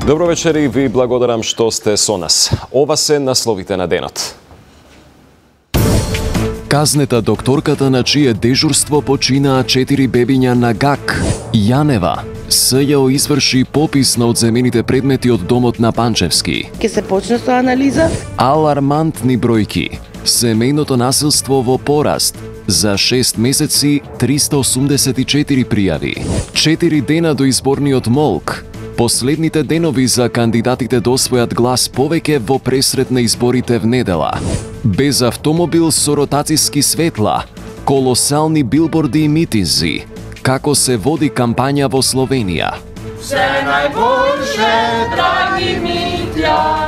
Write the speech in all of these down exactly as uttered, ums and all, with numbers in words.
Добро вечер и ви благодарам што сте со нас. Ова се насловите на денот. Казнета докторката на чие дежурство починаа четири бебиња на ГАК. Јанева. СЈО изврши попис на одземените предмети од домот на Панчевски. Ке се почне со анализа. Алармантни бројки. Семејното насилство во пораст. За шест месеци триста осумдесет и четири пријави. Четири дена до изборниот молк. Последните денови за кандидатите да освојат глас повеќе во пресрет на изборите в недела. Без автомобил со ротациски светла, колосални билборди и митинзи. Како се води кампања во Словенија? Се најбольше, драги Митја!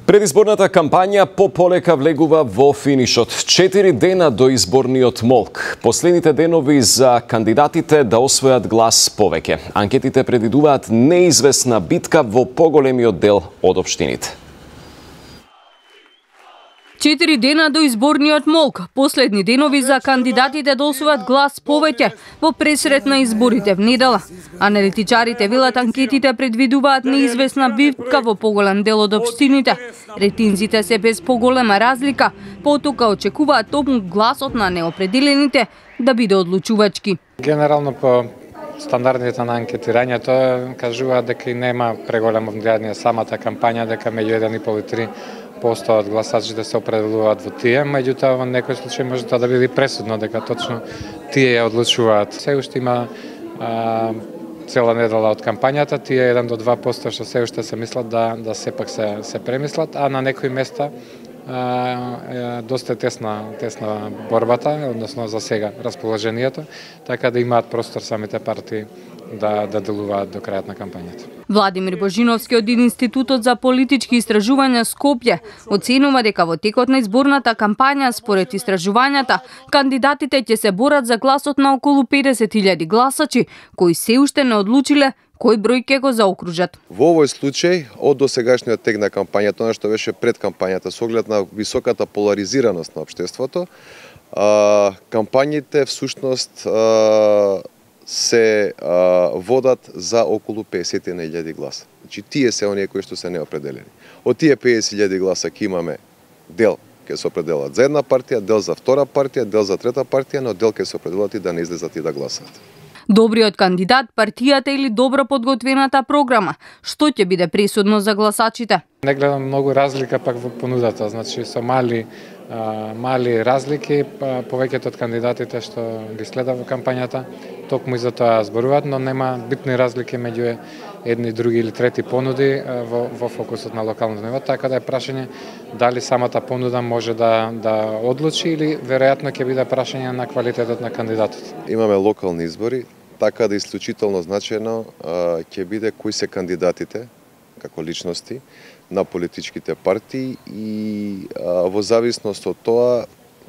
Предизборната кампања пополека влегува во финишот. Четири дена до изборниот молк. Последните денови за кандидатите да освојат глас повеќе. Анкетите предвидуваат неизвестна битка во поголемиот дел од општините. Четири дена до изборниот молк, последни денови за кандидатите да освојат глас повеќе во пресрет на изборите в недела. Аналитичарите велат анкетите предвидуваат неизвестна битка во поголем дел од општините. Ретинзите се без поголема разлика, потоа очекуваат токму гласот на неопределените да биде одлучувачки. Генерално по стандардните на анкетирањето кажуваат дека и нема преголемо влијание самата кампања, дека меѓу еден и пол и три посто од гласачите се определуваат во тие, меѓутоа во некој случај може тоа да биде пресудно дека точно тие ја одлучуваат. Се уште има а, цела недела од кампањата, тие еден до два посто што се уште се мислат да да сепак се се премислат, а на некои места а, е доста тесна тесна борбата, односно за сега расположението, така да имаат простор самите партии да да делуваат до крајот на кампањата. Владимир Божиновски од Институтот за политички истражувања Скопје оценува дека во текот на изборната кампања според истражувањата кандидатите ќе се борат за гласот на околу педесет илјади гласачи кои се уште не одлучиле кој број ќе го заокружат. Во овој случај од досегашниот тек на кампањата, она што беше пред кампањата со оглед на високата поларизираност на општеството, а, кампањите всушност а, се а, водат за околу песет илјади гласа. Значи тие се оние кои што се неопределени. Од тие песет илјади гласа ќе имаме дел ќе се определат за една партија, дел за втора партија, дел за трета партија, но дел ќе се определат и да не излезат и да гласаат. Добриот кандидат, партијата или добро подготвената програма, што ќе биде пресудно за гласачите? Не гледам многу разлика пак во понудата, значи со мали а, мали разлики, повеќето од кандидатите што ги следа во кампањата, токму и за тоа зборуваат, но нема битни разлики меѓу едни, други или трети понуди во, во фокусот на локалното ниво, така да е прашање дали самата понуда може да да одлучи или веројатно ќе биде прашање на квалитетот на кандидатот. Имаме локални избори, така да исклучително значено ќе биде кои се кандидатите како личности на политичките партии и а, во зависност од тоа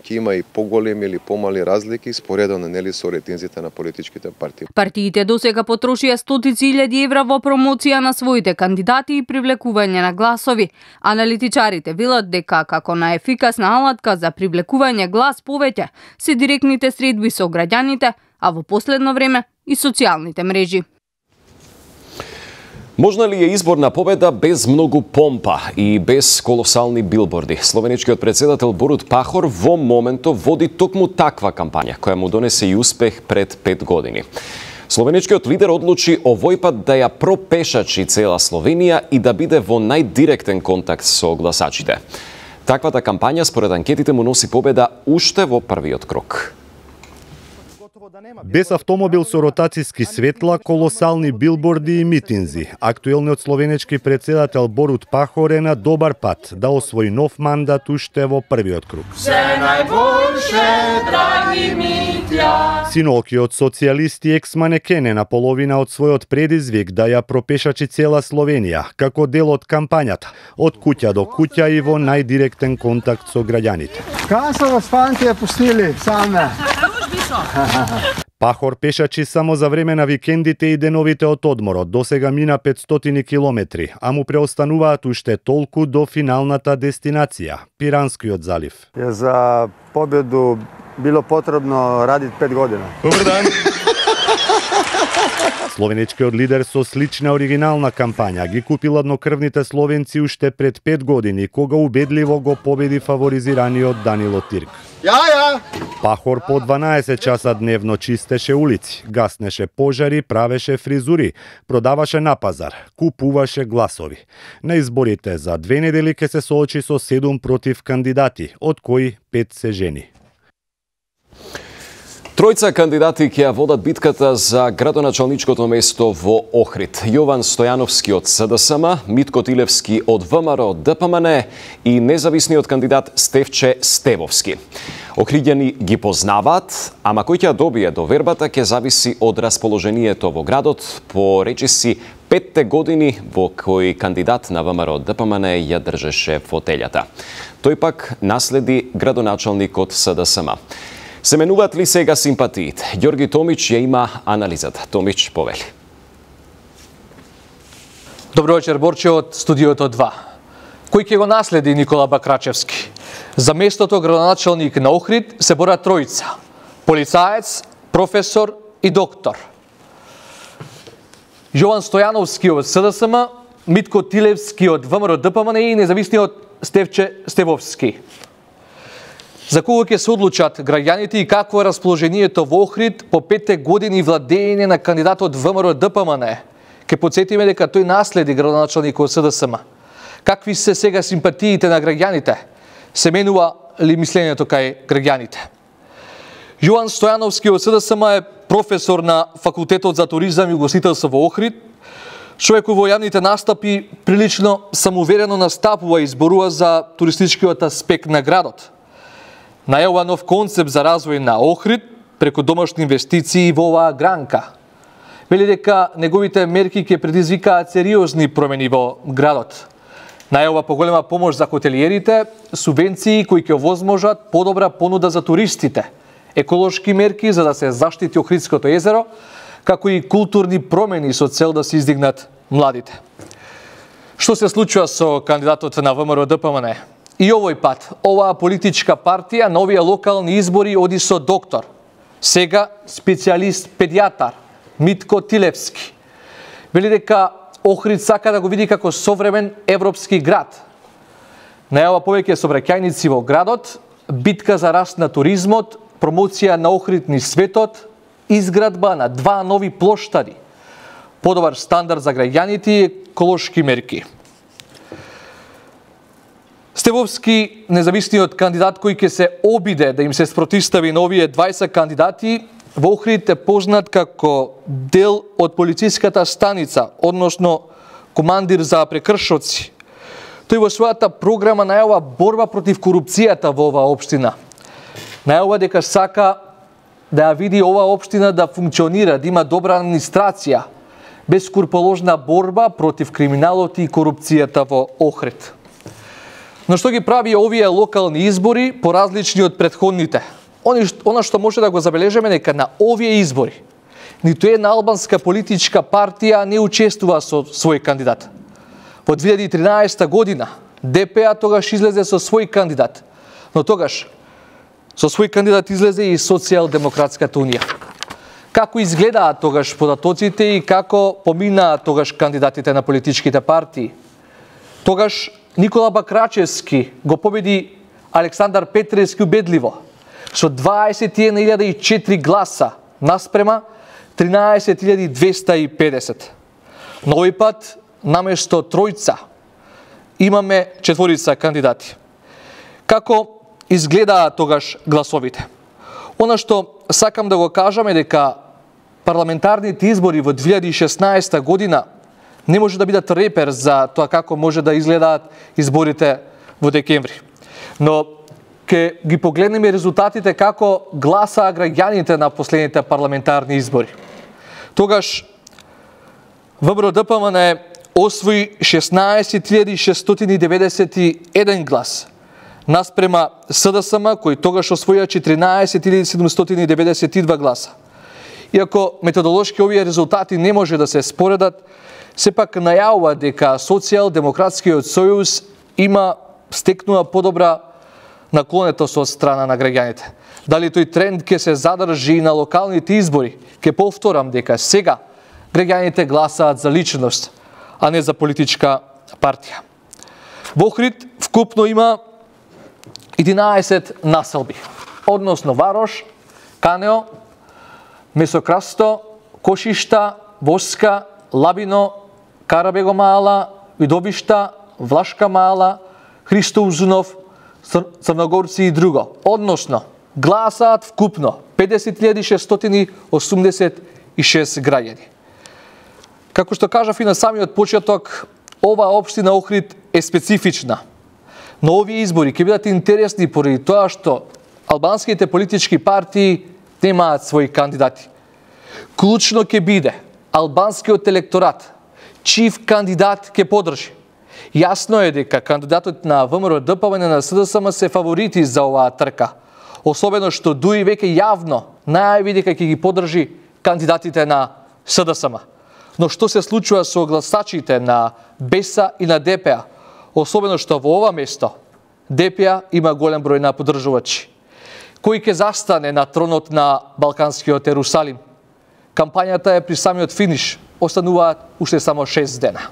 ќе има и поголеми или помали разлики споредно нели со ретинзите на политичките партии. Партиите досега потрошија стотици илјади евра во промоција на своите кандидати и привлекување на гласови. Аналитичарите велат дека како најефикасна алатка за привлекување глас повеќе се директните средби со граѓаните, а во последно време и социјалните мрежи. Можна ли е изборна победа без многу помпа и без колосални билборди? Словеничкиот председател Борут Пахор во моментов води токму таква кампања, која му донесе и успех пред пет години. Словеничкиот лидер одлучи овој пат да ја пропешачи цела Словенија и да биде во најдиректен контакт со гласачите. Таквата кампања според анкетите му носи победа уште во првиот крок. Без автомобил со ротациски светла, колосални билборди и митинзи, актуелниот словенечки председател Борут Пахор е на добар пат да освои нов мандат уште во првиот круг. Се најбольше, драги Митја! Синокиот социјалист и екс-манекен е на половина од својот предизвик да ја пропешачи цела Словенија, како дел од кампањата, од куќа до куќа и во најдиректен контакт со граѓаните. Кај се вас фанти ја пустили саме? Пахор пешачи само за време на викендите и деновите од одморот. Досега мина петстотини километри, а му преостануваат уште толку до финалната дестинација – Пиранскиот залив. За победу било потребно радити пет година. Добар дан! Словенечкиот лидер со слична оригинална кампања ги купи ладнокрвните словенци уште пред пет години, кога убедливо го победи фаворизираниот Данило Тирк. Ја, ја! Пахор по дванаесет часа дневно чистеше улици, гаснеше пожари, правеше фризури, продаваше на пазар, купуваше гласови. На изборите за две недели ке се соочи со седум против кандидати, од кои пет се жени. Тројца кандидати ќе ја водат битката за градоначалничкото место во Охрид. Јован Стојановски од СДСМ, Митко Тилевски од ВМРО ДПМН и независниот кандидат Стефче Стевовски. Охриѓани ги познаваат, ама кој ќе добие довербата ќе зависи од расположението во градот, по речиси петте години во кои кандидат на ВМРО ДПМН ја држеше фотелјата. Тој пак наследи градоначалникот СДСМ. Се менуваат ли сега симпатиите? Ѓорги Томич ја има анализата. Томич повели. Добро вечер, Борче, од студиото два. Кој ќе го наследи Никола Бакрачевски? За местото градоначалник на Охрид се борат тројца. Полицаец, професор и доктор. Јован Стојановски од СДСМ, Митко Тилевски од ВМРО ДПМН и независниот Стефче Стевовски. За кого ќе се одлучат граѓаните и какво е расположението во Охрид по петте години владење на кандидатот ВМРО ДПМН? Ке подсетиме дека тој наследи градоначалникот СДСМ. Какви се сега симпатиите на граѓаните? Се менува ли мислењето кај граѓаните? Јован Стојановски од СДСМ е професор на Факултетот за туризам и угостителство во Охрид. Човекот во јавните настапи прилично самоуверено настапува и зборува за туристичкиот аспект на градот. Најава нов концепт за развој на Охрид преку домашни инвестиции во оваа гранка. Вели дека неговите мерки ќе предизвикаат сериозни промени во градот. Најава поголема помош за хотелиерите, субвенции кои ќе овозможат подобра понуда за туристите, еколошки мерки за да се заштити Охридското езеро, како и културни промени со цел да се издигнат младите. Што се случува со кандидатот на ВМРО ДПМН? И овој пат, оваа политичка партија на овие локални избори оди со доктор, сега специјалист педијатар, Митко Тилевски. Вели дека Охрид сака да го види како современ европски град. Најава повеќе сообраќајници во градот, битка за раст на туризмот, промоција на Охрид низ светот, изградба на два нови плоштади, подобар стандард за граѓаните и еколошки мерки. Стевовски, независниот кандидат кој ќе се обиде да им се спротивстави на овие дваесет кандидати, во Охрид е познат како дел од полициската станица, односно командир за прекршоци. Тој во својата програма најава борба против корупцијата во оваа општина. Најава дека сака да ја види оваа општина да функционира, да има добра администрација, безскруположна борба против криминалот и корупцијата во Охрид. Но што ги прави овие локални избори поразлични од претходните? Она што може да го забележиме дека на овие избори ниту една албанска политичка партија не учествува со свој кандидат. Во две илјади и тринаесетта година ДП тогаш излезе со свој кандидат, но тогаш со свој кандидат излезе и Социјалдемократската унија. Како изгледаат тогаш податоците и како поминаат тогаш кандидатите на политичките партии? Тогаш Никола Бакрачевски го победи Александар Петревски убедливо со дваесет и една илјада и четири гласа наспрема тринаесет илјади двеста и педесет. На овој пат наместо тројца имаме четворица кандидати. Како изгледаат тогаш гласовите? Она што сакам да го кажам е дека парламентарните избори во две илјади и шеснаесетта година не може да бидат репер за тоа како може да изгледаат изборите во декември. Но ќе ги погледнеме резултатите како гласаа граѓаните на последните парламентарни избори. Тогаш ВМРО ДПМН освои шеснаесет илјади шестстотини и деветдесет и еден глас, наспрема СДСМ кој тогаш освоија четиринаесет илјади седумстотини и деветдесет и два гласа. Иако методолошки овие резултати не може да се споредат, сепак најавува дека Социјалдемократскиот сојуз има стекнува подобра наклонетост од страна на граѓаните. Дали тој тренд ќе се задржи и на локалните избори? Ќе повторам дека сега Граѓаните гласаат за личност, а не за политичка партија. Во Охрид вкупно има единаесет населби, односно Варош, Канео, Месокрасто, Кошишта, Воска, Лабино, Карабего мала, Видовишта, Влашка мала, Христо Узунов, Црногорци и друго. Односно, гласаат вкупно педесет илјади шестстотини осумдесет и шест граѓани. Како што кажав и на самиот почеток, ова општина Охрид е специфична. Но овие избори ќе бидат интересни поради тоа што албанските политички партии немаат своји кандидати. Клучно ќе биде албанскиот електорат, чив кандидат ќе поддржи. Јасно е дека кандидатот на ВМРО Д П В Н на С Д С М се фаворити за оваа трка, особено што дуи веќе јавно најави дека ќе ги поддржи кандидатите на С Д С М. Но што се случува со гласачите на Б Е С и на Д П А, особено што во ова место Д П А има голем број на поддржувачи. Кој ќе застане на тронот на Балканскиот Ерусалим? Кампањата е при самиот финиш, остануваат уште само шест дена.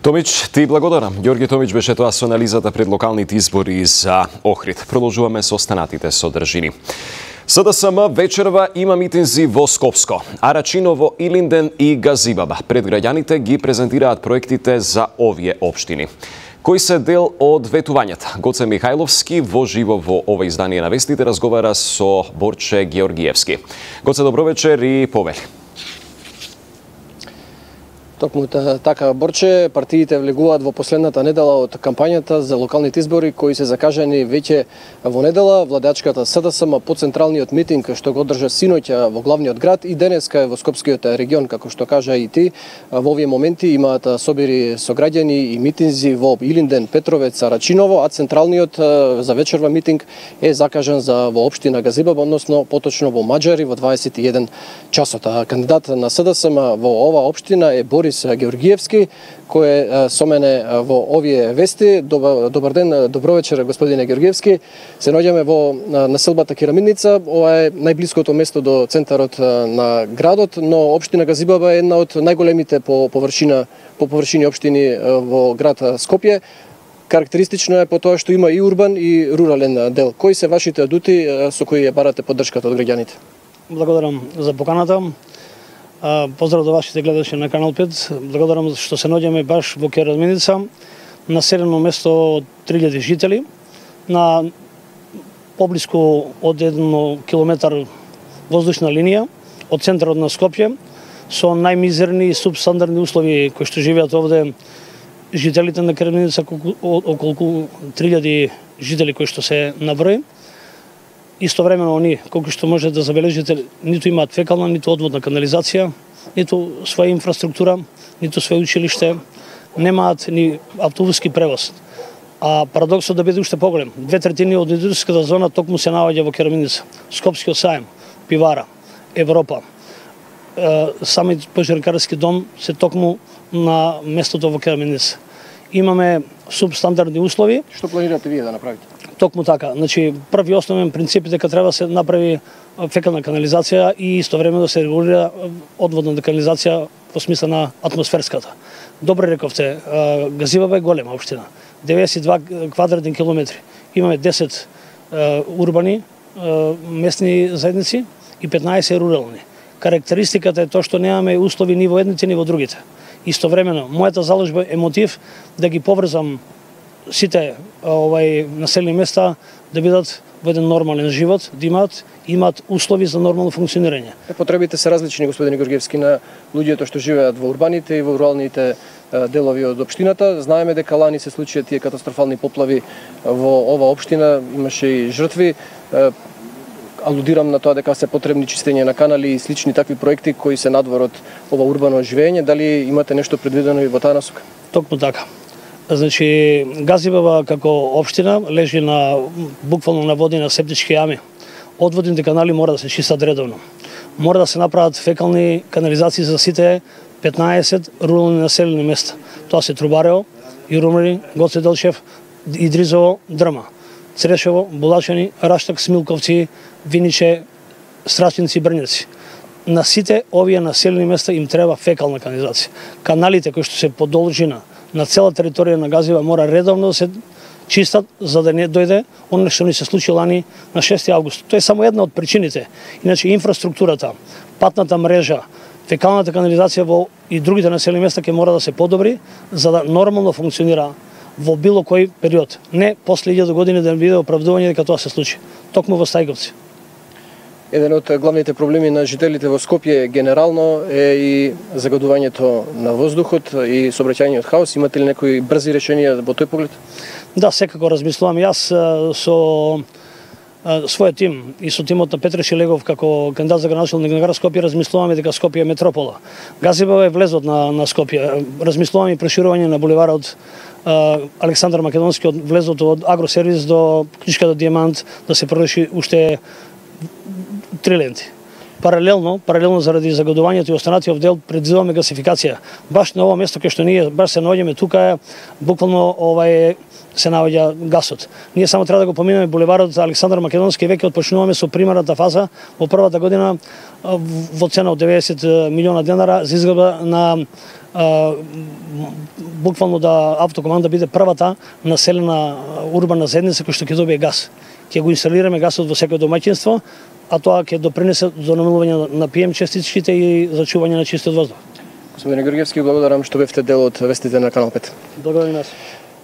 Томич, ти благодарам. Ѓорги Томич беше тоа со анализата пред локалните избори за Охрид. Продолжуваме со останатите содржини. С Д С М вечерва има митинзи во Скопско, Арачиново, Илинден и Газибаба. Пред граѓаните ги презентираат проектите за овие општини, кои се дел од ветувањата. Гоце Михајловски во живо во ова издание на вестите разговара со Борче Георгиевски. Гоце, добро вечер и повели. Токму така, Борче, партиите влегуваат во последната недела од кампањата за локалните избори кои се закажани веќе во недела. Владачката С Д С М по централниот митинг што го одржа синоќа во главниот град и денеска во Скопскиот регион, како што кажа и ти. Во овие моменти имаат собири со граѓани и митинзи во Илинден, Петровец, Арачиново, а централниот за вечерва митинг е закажан за во општина Газибаба, односно поточно во Маџари во дваесет и еден часот. Кандидат на С Д С М во ова општина е Борис Георгиевски, кој е со мене во овие вести. Добар, добар ден, добро вечер, господине Георгиевски. Се наоѓаме во населбата Керамидница. Ова е најблиското место до центарот на градот, но општина Газибаба е една од најголемите по површина по површини општини во град Скопје. Карактеристично е по тоа што има и урбан и рурален дел. Кои се вашите адути со кои ја барате поддршката од граѓаните? Благодарам за поканата. Поздрав до вашите гледачи на Канал пет. Благодарам што се наоѓаме баш во Керамидница, населено место од три илјади жители, на поблиску од еден километар воздушна линија од центарот на Скопје, со најмизерни и субстандардни услови кои што живеат овде жителите на Керамидница, околку три илјади жители кои што се наброи. Истовремено они, колку што може да забележите, ниту имаат фекална, ниту одводна канализација, ниту своја инфраструктура, ниту своје училиште, немаат ни автобуски превоз. А парадоксот да биде уште поголем. Две третини од индустријската зона токму се наоѓа во Керамидница. Скопскиот саем, пивара, Европа, самиот пожаркарски дом се токму на местото во Керамидница. Имаме субстандардни услови. Што планирате вие да направите? Токму така. Значи, први основен принцип е дека треба да се направи фекална канализација и истовремено да се регулира одводна канализација во смисла на атмосферската. Добре рековте, Газибаба е голема општина. деветдесет и два квадратни километри. Имаме десет урбани местни заедници и петнаесет рурални. Карактеристиката е тоа што немаме услови ни во едните ни во другите. Истовремено, мојата заложба е мотив да ги поврзам сите овај населени места да бидат во еден нормален живот, да имаат имаат услови за нормално функционирање. Потребите се различни, господин Георгиевски, на луѓето што живеат во урбаните и во руралните делови од општината. Знаеме дека лани се случија тие катастрофални поплави во ова општина, имаше и жртви. Алудирам на тоа дека се потребни чистење на канали и слични такви проекти кои се надвор од ова урбано живење. Дали имате нешто предвидено и во таа насока? Токму така. Значи, Газибаба како општина лежи на буквално на води на септички јами. Одводните канали мора да се чистат редовно. Мора да се направат фекални канализации за сите петнаесет рурални населени места. Тоа се Трубарево, Ирумри, Гоце Делчев, Идризово, Дрма, Црешево, Булачани, Раштак, Смилковци, Виниче, Страчинци, Брњаци. на сите овие населени места им треба фекална канализација. Каналите кои што се по должина на цела територија на Газива мора редовно да се чистат за да не дојде оно што ни се случи лани на шести август. Тоа е само една од причините. Иначе инфраструктурата, патната мрежа, фекалната канализација во и другите населени места ќе мора да се подобри за да нормално функционира во било кој период. Не после илјада години да не биде оправдување дека тоа се случи. Токму во Стајковци. Еден од главните проблеми на жителите во Скопје генерално е и загадувањето на воздухот и сообраќајниот хаос. Имате ли некои брзи решенија во тој поглед? Да, секако размислувам. Јас со својот тим и со тимот на Петре Шилегов како кандидат за градоначалник на град Скопје размислуваме дека Скопје е метропола. Газибава е влезот на, на Скопје. Размислуваме и проширување на булеварот Александар Македонски од влезот од Агросервис до Книшката Дијамант да се продолжи уште три ленти. Паралелно, паралелно заради загадувањето и останатиот дел предвидуваме гасификација. Баш на ова место кај што ние баш се наоѓаме тука, буквално овај се наоѓа гасот. Ние само треба да го поминеме булеварот Александар Македонски и веќе отпочнуваме со примерната фаза во првата година во цена од деветдесет милиона денара за изградба на а, буквално да автокоманда биде првата населена урбана заедница која што ќе добие газ. Ќе го инсталираме гасот во секој домаќинство, а тоа ќе допринесе до намалување на пи ем частичките и зачување на чистиот воздух. Господине Георгиевски, благодарам што бевте дел од вестите на Канал пет. Благодарам нас.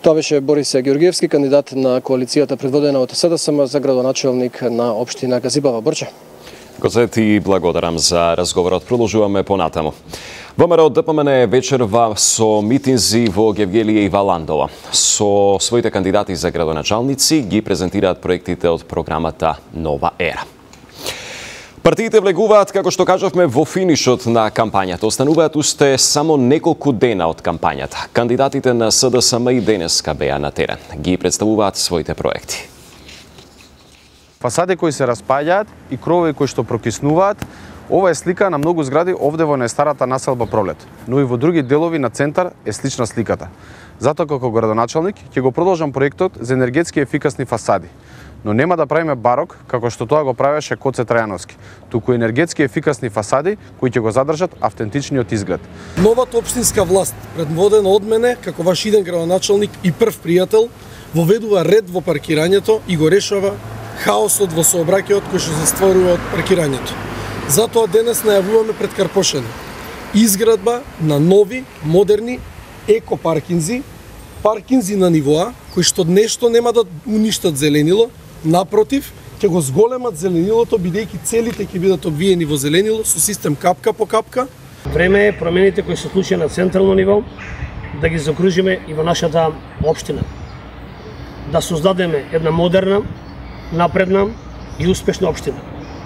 Тоа беше Борис Георгиевски, кандидат на коалицијата предводена од СДСМ за градоначалник на општина Газибава. Борче. Гозет и благодарам за разговорот. Продолжуваме понатаму. ВМРО ДПМН вечерва со митинзи во Гевгелија и Валандова. Со своите кандидати за градоначалници ги презентираат проектите од програмата Нова ера. Партиите влегуваат, како што кажавме, во финишот на кампањата. Остануваат уште само неколку дена од кампањата. Кандидатите на СДСМ и денеска беа на терен. Ги представуваат своите проекти. Фасади кои се распаѓаат и кровови кои што прокиснуваат, ова е слика на многу згради овде во најстарата населба Пролет, но и во други делови на центар е слична сликата. Затоа како градоначалник ќе го продолжам проектот за енергетски ефикасни фасади. Но нема да правиме барок, како што тоа го правеше Коце Трајановски, туку енергетски ефикасни фасади кои ќе го задржат автентичниот изглед. Новата општинска власт, предводена од мене, како ваш иден градоначалник и прв пријател, воведува ред во паркирањето и го решава хаосот во сообраќајот кој што се стварува од паркирањето. Затоа денес најавуваме пред Карпошено изградба на нови, модерни еко-паркинзи, паркинзи на нивоа, кои што нешто нема да уништат зеленило, напротив, ќе го зголемат зеленилото, бидејќи целите ќе бидат обвиени во зеленило со систем капка по капка. Време е промените кои се случија на централно ниво да ги закружиме и во нашата општина. Да создадеме една модерна, напредна и успешна општина,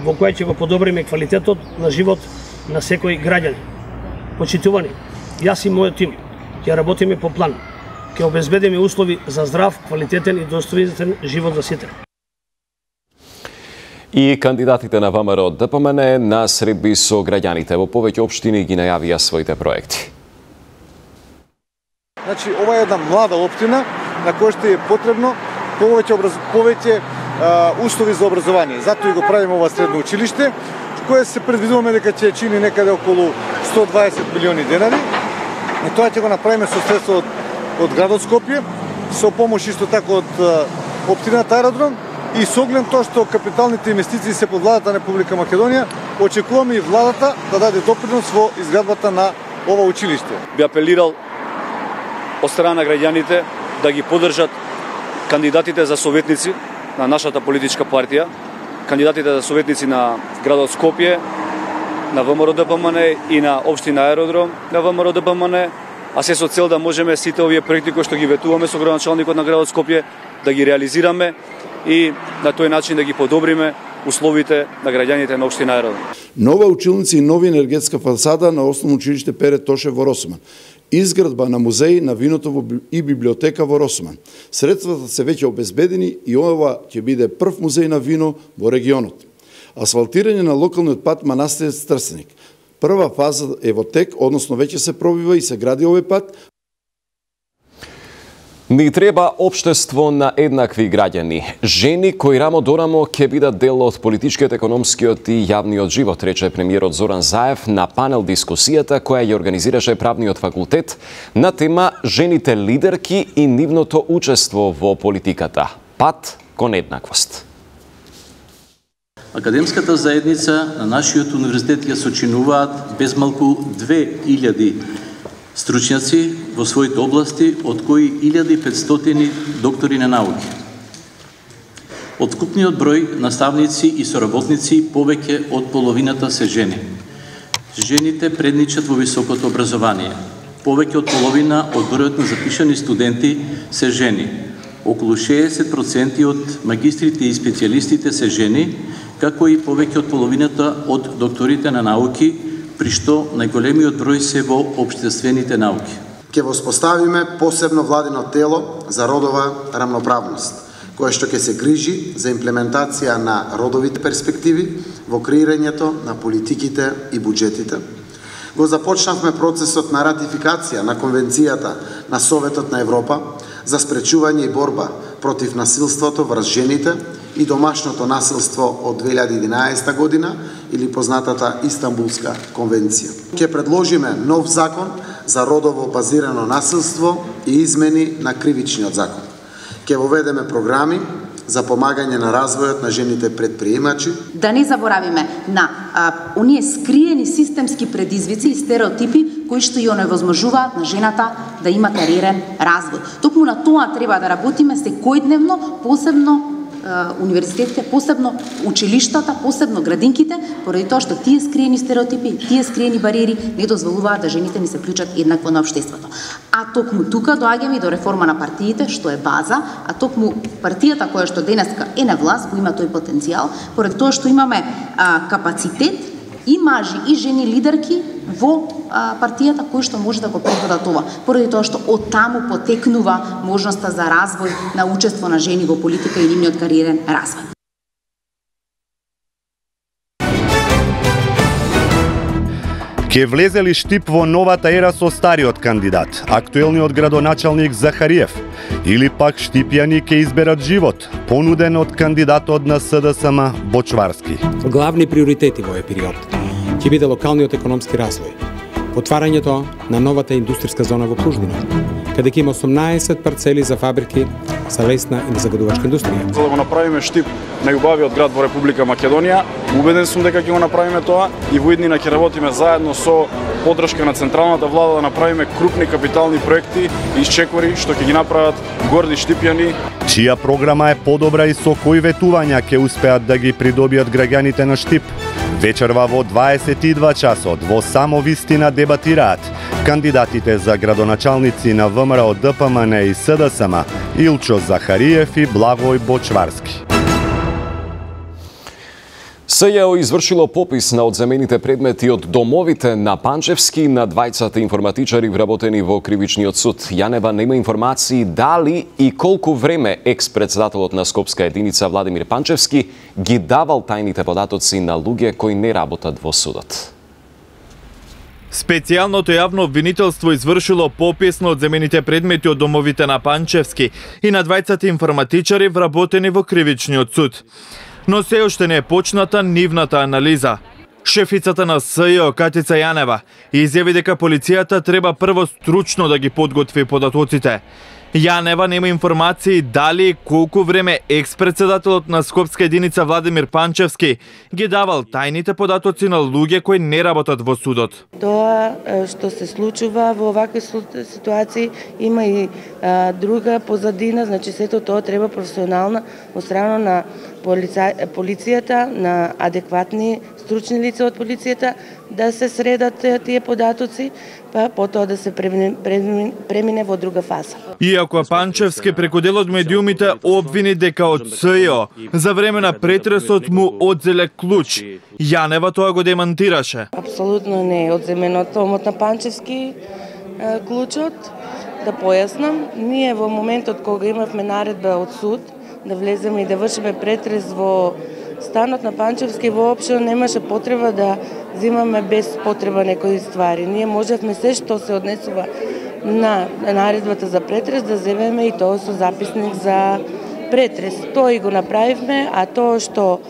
во која ќе го подобриме квалитетот на живот на секој граѓанин. Почитувани, јас и мојот тим ќе работиме по план, ќе обезбедиме услови за здрав, квалитетен и достоинствен живот за сите. И кандидатите на ВМРО ДПМН на средби со граѓаните во повеќе општини ги најавија своите проекти. Значи, ова е една млада општина на која што е потребно повеќе образ... повеќе а, услови за образование. Затоа и го правиме ова средно училиште, кое се предвидуваме дека ќе чини некаде околу сто дваесет милиони денари. И тоа ќе го направиме со средства од, од градот Скопје, со помош исто така од а, општината Аеродром и со оглед тоа што капиталните инвестиции се под владата на Република Македонија, очекуваме и владата да даде допринос во изградбата на ова училиште. Би апелирал од страна на граѓаните да ги поддржат кандидатите за советници на нашата политичка партија, кандидатите за советници на градот Скопје, на ВМРО ДПМН и на општина Аеродром на ВМРО ДПМН, а се со цел да можеме сите овие проекти кои што ги ветуваме со градоначалникот на градот Скопје да ги реализираме и на тој начин да ги подобриме условите на граѓаните на општина Аеродром. Нова училница и нови енергетска фасада на Основно училиште Пере Тошев во Росман. Изградба на музеј на виното и библиотека во Росман. Средствата се веќе обезбедени и ова ќе биде прв музеј на вино во регионот. Асфалтирање на локалниот пат Манастирец Трстеник. Прва фаза е во тек, односно веќе се пробива и се гради овој пат. Ни треба општество на еднакви граѓани. Жени кои рамо до рамо ќе бидат дел од политичкиот, економскиот и јавниот живот, рече премиерот Зоран Заев на панел дискусијата која ја организираше правниот факултет на тема жените лидерки и нивното учество во политиката. Пат кон еднаквост. Академската заедница на нашиот универзитет ја сочинуваат безмалку две илјади стручњаци во своите области, од кои илјада и петстотини доктори на науки. Од вкупниот број наставници и соработници повеќе од половината се жени. Жените предничат во високото образование. Повеќе од половина од бројот на запишани студенти се жени. Околу шеесет проценти од магистрите и специјалистите се жени, како и повеќе од половината од докторите на науки, при што најголемиот број се во општествените науки. Ќе воспоставиме посебно владино тело за родова рамноправност, кое што ќе се грижи за имплементација на родовите перспективи во креирањето на политиките и буџетите. Го започнавме процесот на ратификација на Конвенцијата на Советот на Европа за спречување и борба против насилството врз жените и домашното насилство од две илјади и единаесета година или познатата Истанбулска конвенција. Ќе предложиме нов закон за родово базирано насилство и измени на кривичниот закон. Ќе воведеме програми за помагање на развојот на жените предприемачи. Да не заборавиме на а, оние скриени системски предизвици и стереотипи кои што ја оневозможуваат на жената да има кариерен развој. Токму на тоа треба да работиме секојдневно, посебно универзитетите, посебно училиштата, посебно градинките, поради тоа што тие скриени стереотипи, тие скриени бариери не дозволуваат да жените ни се вклучат еднакво на општеството. А токму тука доаѓаме и до реформа на партиите, што е база, а токму партијата која што денеска е на власт, го има тој потенцијал, поради тоа што имаме а, капацитет и мажи и жени лидерки во а, партијата кои што може да го предводат ова, поради тоа што од таму потекнува можноста за развој на учество на жени во политика и нивниот кариерен развој. Ке влезе ли Штип во новата ера со стариот кандидат, актуелниот градоначалник Захариев, или пак штипјани ке изберат живот, понуден од кандидатот на СДСМ Бочварски? Главни приоритети во овој период ќе биде локалниот економски развој, отварањето на новата индустријска зона во Клуждина, каде ќе има осумнаесет парцели за фабрики за лесна и загадувачка индустрија. За да го направиме Штип најубавиот град во Република Македонија, убеден сум дека ќе го направиме тоа и во иднина ќе работиме заедно со поддршка на централната влада да направиме крупни капитални проекти и исчекори што ќе ги направат горди штипјани. Чија програма е подобра и со кои ветувања ќе успеат да ги придобијат граѓаните на Штип? Вечерва во дваесет и два часот во Само вистина дебатираат кандидатите за градоначалници на ВМРО, ДПМН и СДСМ Илчо Захариев и Благој Бочварски. СЈО извршило попис на одземените предмети од домовите на Панчевски на двајцата информатичари вработени во Кривичниот суд. Јанева нема информации дали и колку време екс-председателот на Скопска единица Владимир Панчевски ги давал тајните податоци на луѓе кои не работат во судот. Специјалното јавно обвинителство извршило попис на одземените предмети од домовите на Панчевски и на двајцата информатичари вработени во Кривичниот суд. Но се уште не е почната нивната анализа. Шефицата на СЈО Катица Јанева изјави дека полицијата треба прво стручно да ги подготви податоците. Јанева нема информации дали и колку време екс-председателот на Скопска единица Владимир Панчевски ги давал тајните податоци на луѓе кои не работат во судот. Тоа што се случува во овакви ситуации има и а, друга позадина, значи сето тоа треба професионална од страна на полица, полицијата, на адекватни стручни лица од полицијата да се средат тие податоци, па потоа да се премине, премине во друга фаза. Иако Панчевски преку дел од медиумите обвини дека од СЈО за време на претресот му одзеле клуч, Јанева тоа го демантираше. Апсолутно не е одземен од томот на Панчевски клучот. Да појаснам, ние во моментот кога имавме наредба од суд да влеземе и да вршиме претрес во станот на Панчевски, воопшто немаше потреба да взимаме без потреба некои ствари. Ние можевме се што се однесува на наредбата за претрес да земеме и тоа со записник за претрес. Тоа и го направивме, а тоа што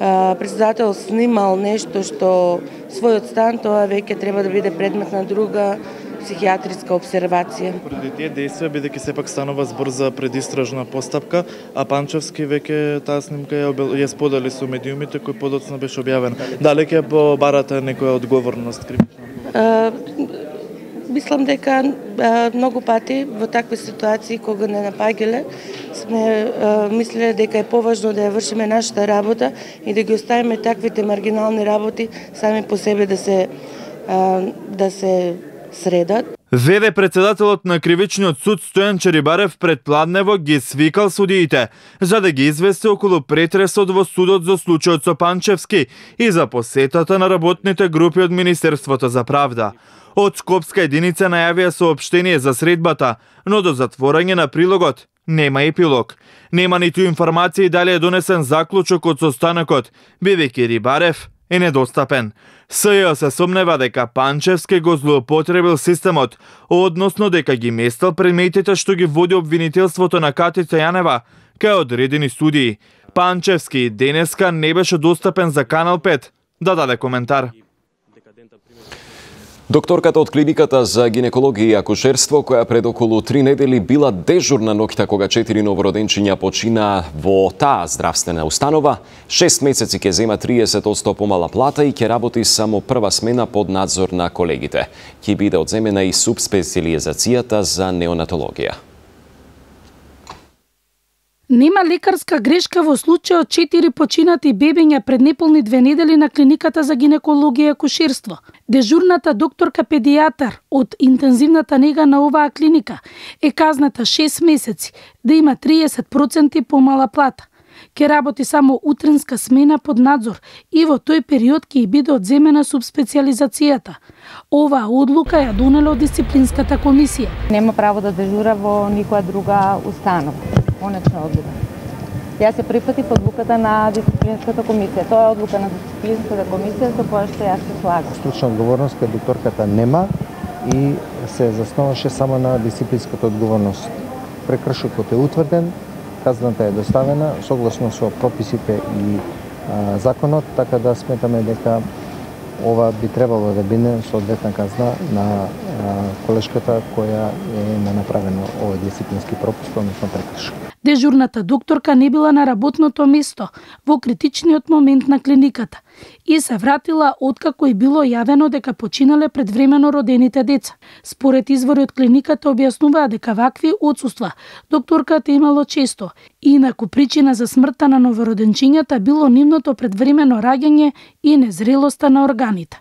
а, председател снимал нешто што својот стан, тоа веќе треба да биде предмет на друга психијатриска обсервација. Преди тие действија, бидејќи сепак станува збор за предистражна постапка, а Панчевски веќе таа снимка ја, ја сподели со медиумите кој подоцна беше објавен. Дали ќе побарате некоја одговорност кривична? Мислам дека а, многу пати во такви ситуации кога не напаѓале сме а, мислеле дека е поважно да ја вршиме нашата работа и да ги оставиме таквите маргинални работи сами по себе да се а, да се средат. Веде председателот на Кривичниот суд Стојан Черибарев пред Пладнево ги свикал судиите за да ги извести околу претресот во судот за случајот со Панчевски и за посетата на работните групи од Министерството за правда. Од Скопска единица најавија соопштение за средбата, но до затворање на прилогот нема епилог. Нема ниту информации дали е донесен заклучок од состанокот, бидејќи Рибарев е недостапен. СЈ се сомнева дека Панчевски го злоупотребил системот, односно дека ги местал предметите што ги води обвинителството на Катица Јанева кај одредени судии. Панчевски денеска не беше достапен за Канал пет да даде коментар. Докторката од клиниката за гинекологија и акушерство, која пред околу три недели била дежурна ноќта кога четири новороденчиња почина во таа здравствена установа, шест месеци ќе зема триесет одсто помала плата и ќе работи само прва смена под надзор на колегите. Ќе биде одземена и субспециализацијата за неонатологија. Нема лекарска грешка во случајот четири починати бебиња пред неполни две недели на клиниката за гинекологија и акушерство. Дежурната докторка педијатар од интензивната нега на оваа клиника е казната шест месеци да има триесет проценти помала плата. Ке работи само утренска смена под надзор и во тој период ќе биде одземена субспециализацијата. Оваа одлука ја донела од дисциплинската комисија. Нема право да дежура во никоја друга установа. Конечна одлука. Ја се припати по одлуката на дисциплинската комисија. Тоа е одлука на дисциплинската комисија со која што јас се слагам. Стручна одговорност кај докторката нема и се засноваше само на дисциплинската одговорност. Прекршокот е утврден, казната е доставена согласно со прописите и а, законот, така да сметаме дека ова би требало да биде соодветна казна на а, колешката која е направено овој дисциплински пропуст, односно прекршок. Дежурната докторка не била на работното место во критичниот момент на клиниката и се вратила откако и било јавено дека починале предвремено родените деца. Според извори од клиниката објаснуваа дека вакви отсуства докторката имало често, инаку причина за смртта на новороденчињата било нивното предвремено раѓање и незрелоста на органите.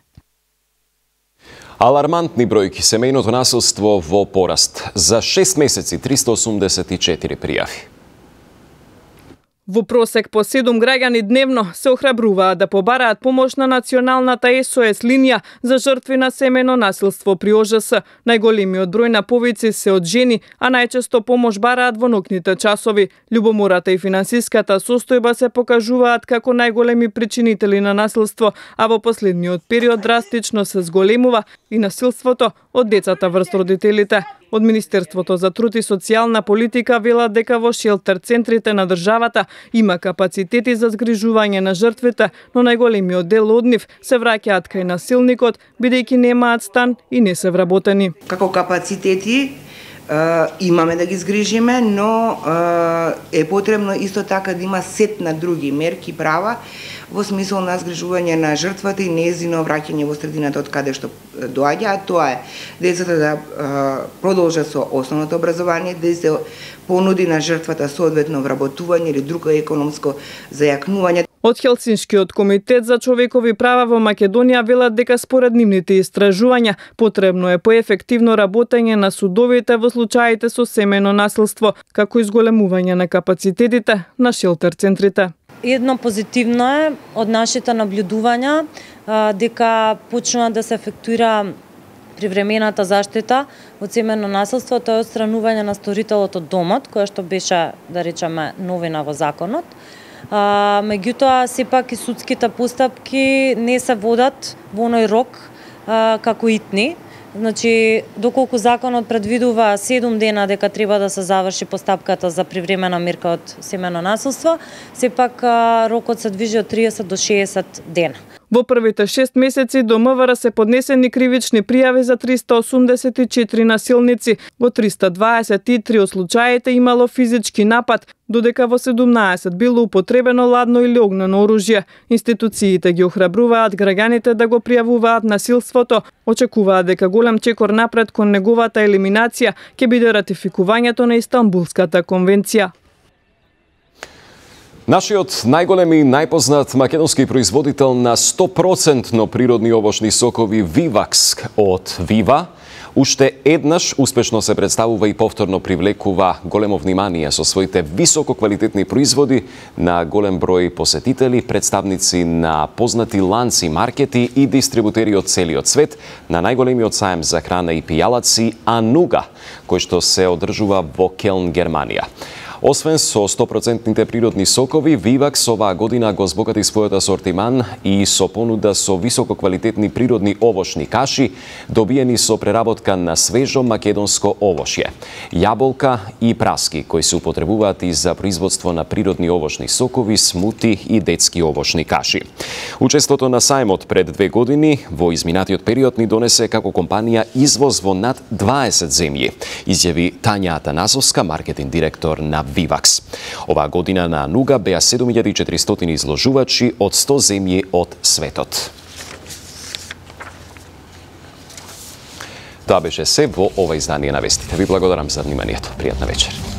Алармантни бројки, семејното насилство во пораст. За шест месеци триста осумдесет и четири пријави. Во просек по седум граѓани дневно се охрабруваат да побараат помош на националната Ес О Ес линија за жртви на семејно насилство при О Ж С. Најголемиот број на повици се од жени, а најчесто помош бараат во ноќните часови. Љубомората и финансиската состојба се покажуваат како најголеми причинители на насилство, а во последниот период драстично се зголемува и насилството од децата врз родителите. Од Министерството за труд и социјална политика велат дека во шелтер центрите на државата има капацитети за згрижување на жртвите, но најголемиот дел од нив се враќаат кај насилникот, бидејќи немаат стан и не се вработени. Како капацитети имаме да ги згрижиме, но е потребно исто така да има сет на други мерки права во смисол на згрижување на жртвата и нејзино враќање во средината од каде што доаѓа, а тоа е децата да продолжат со основното образование, да се понуди на жртвата соодветно вработување или друго економско зајакнување. Од Хелсиншкиот комитет за човекови права во Македонија велат дека според нивните истражувања потребно е поефективно работење на судовите во случаите со семејно насилство, како изголемување на капацитетите на шелтер центрите. Едно позитивно е од нашите наблюдувања дека почнува да се ефектуира привремената заштита од семејно насилство, тоа е отстранување на сторителот од домот, која што беше, да речеме, новина во законот. А, меѓутоа, сепак и судските постапки не се водат во оној рок а, како итни, Значи, доколку законот предвидува седум дена дека треба да се заврши постапката за привремена мерка од семено насилство, сепак рокот се движи од триесет до шеесет дена. Во првите шест месеци до МВР се поднесени кривични пријави за триста осумдесет и четири насилници. Во триста дваесет и три од случаите имало физички напад, додека во седумнаесет било употребено ладно или огнено оружје. Институциите ги охрабруваат граѓаните да го пријавуваат насилството. Очекуваат дека голем чекор напред кон неговата елиминација ќе биде ратификувањето на Истанбулската конвенција. Нашиот најголем и најпознат македонски производител на сто проценти природни овошни сокови Вивакс од Вива уште еднаш успешно се представува и повторно привлекува големо внимание со своите висококвалитетни производи на голем број посетители, представници на познати ланци, маркети и дистрибутери од целиот свет на најголемиот саем за храна и пијалаци Ануга, кој што се одржува во Келн, Германија. Освен со сто проценти природни сокови, Вивакс оваа година го збогати својот асортиман и со понуда со висококвалитетни природни овошни каши, добиени со преработка на свежо македонско овошје, јаболка и праски, кои се употребуваат и за производство на природни овошни сокови, смути и детски овошни каши. Учеството на сајмот пред две години во изминатиот период ни донесе како компанија извоз во над дваесет земји, изјави Тања Атанасовска, маркетинг директор на Вивакс. Оваа година на Ануга беа седум илјади и четиристотини изложувачи од сто земји од светот. Тоа беше се во ова издание на вестите. Ви благодарам за вниманието. Пријатна вечер.